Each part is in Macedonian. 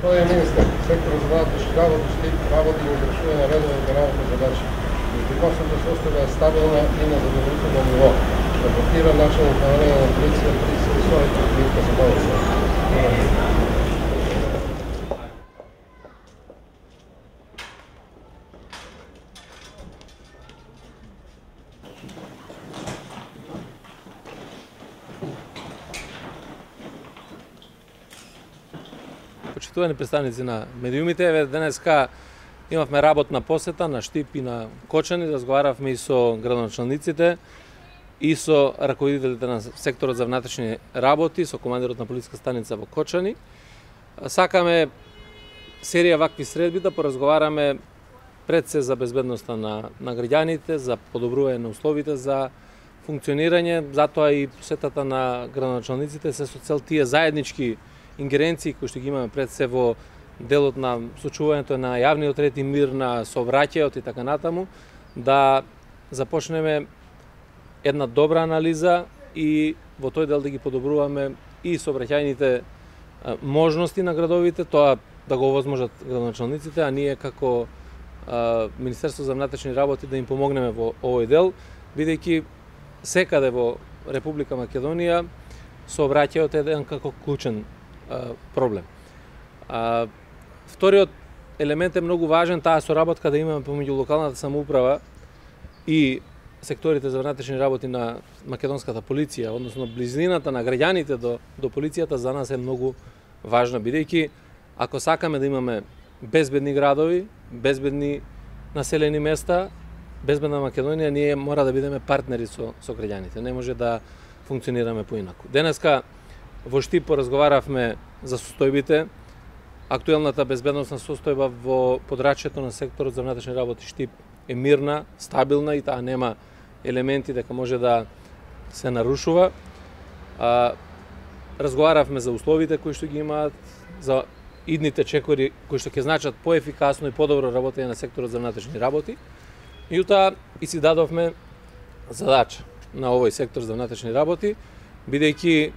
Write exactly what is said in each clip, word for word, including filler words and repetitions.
Тоа е министер, секторот за внатрешни работи ще работи и извршување на редовните работни задачи. Безбедносната состојба е стабилна и на задоволително ниво. Рапортира началник на време на полиција тридесет и осум Митка Сабалеца. Почитувани представници на медиумите, еве денеска имавме работна посета на Штип и на Кочани, разговаравме и со градоначалниците и со раководителите на секторот за внатрешни работи, со командирот на полициска станица во Кочани. Сакаме серија вакви средби да поразговараме пред се за безбедноста на, на граѓаните, за подобрување на условите за функционирање, затоа и посетата на градоначалниците се со цел тие заеднички ингеренции кои што ги имаме пред се во делот на сочуването на јавниот ред и мир, на сообраќајот и така натаму, да започнеме една добра анализа и во тој дел да ги подобруваме и сообраќајните можности на градовите, тоа да го овозможат градоначалниците, а ние како а, Министерство за внатрешни работи да им помогнеме во овој дел, бидејќи секаде во Република Македонија сообраќајот е еден како клучен проблем. А, вториот елемент е многу важен, таа соработка да имаме помеѓу локалната самоуправа и секторите за внатрешни работи на македонската полиција, односно близината на граѓаните до, до полицијата за нас е многу важна, бидејќи ако сакаме да имаме безбедни градови, безбедни населени места, безбедна Македонија, ние мора да бидеме партнери со, со граѓаните, не може да функционираме поинаку. Денеска во Штип поразговаравме за состојбите, актуелната безбедносна состојба во подрачјето на секторот за внатрешни работи Штип е мирна, стабилна и таа нема елементи дека може да се нарушува. А, разговаравме за условите кои што ги имаат, за идните чекори кои што ќе значат поефикасно и подобро работење на секторот за внатрешни работи. Меѓутоа и си дадовме задача на овој сектор за внатрешни работи, бидејќи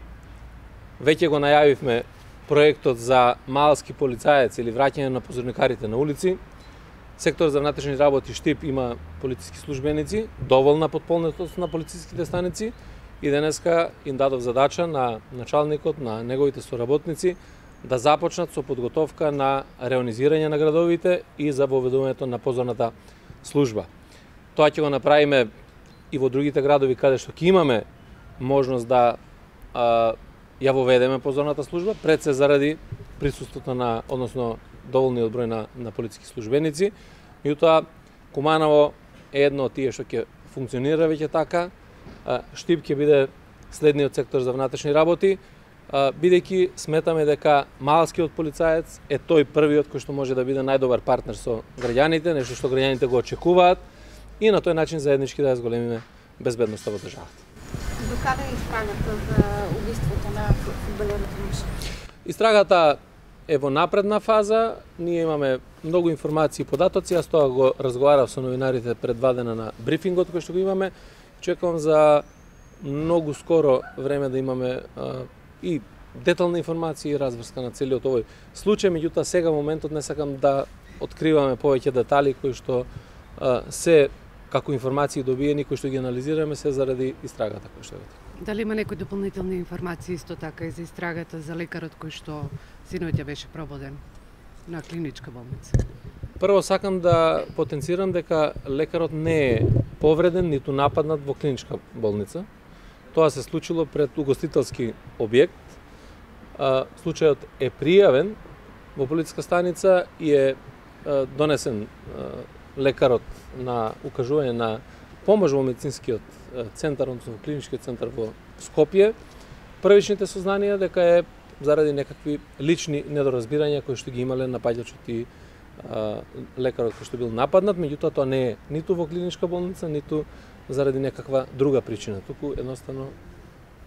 веќе го најавивме проектот за малски полицаец или враќање на позорникарите на улици. Сектор за внатрешни работи Штип има полициски службеници, доволна подполнетост на полициските станици и денеска им дадов задача на началникот, на неговите соработници да започнат со подготовка на реонизирање на градовите и за воведувањето на позорната служба. Тоа ќе го направиме и во другите градови каде што ќе имаме можност да а, ја воведеме позорната служба, пред се заради присуството на, односно доволниот број на, на полициски службеници. Меѓутоа, Куманово е едно од тие што ќе функционира веќе така. Штип ќе биде следниот сектор за внатрешни работи, бидејќи сметаме дека малскиот полицаец е тој првиот кој што може да биде најдобар партнер со граѓаните, нешто што граѓаните го очекуваат и на тој начин заеднички да ја зголемиме безбедноста во државата. До каде е истрагата за убиството на фудбалерот Муша? Истрагата е во напредна фаза, ние имаме многу информации и податоци, јас тоа го разговарав со новинарите пред два дена на брифингот кој што го имаме. Чекувам за многу скоро време да имаме а, и детална информација и разврска на целиот овој случај, меѓутоа сега моментот не сакам да откриваме повеќе детали кои што а, се како информации добиени, кои што ги анализираме, се заради истрагата која што е. Дали има некои дополнителни информации исто така и за истрагата за лекарот кој што синоќа беше прободен на клиничка болница? Прво сакам да потенцирам дека лекарот не е повреден ниту нападнат во клиничка болница. Тоа се случило пред угостителски објект. Случајот е пријавен во полициска станица и е донесен лекарот на укажување на помош во медицинскиот центар, односно во клиничкиот центар во Скопје. Првичните сознанија дека е заради некакви лични недоразбирања кои што ги имале напаѓачот и а, лекарот кој што бил нападнат, меѓутоа тоа не е ниту во клиничка болница, ниту заради некаква друга причина, туку едноставно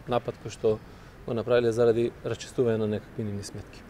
напад кој што го направиле заради расчистување на некакви нивни сметки.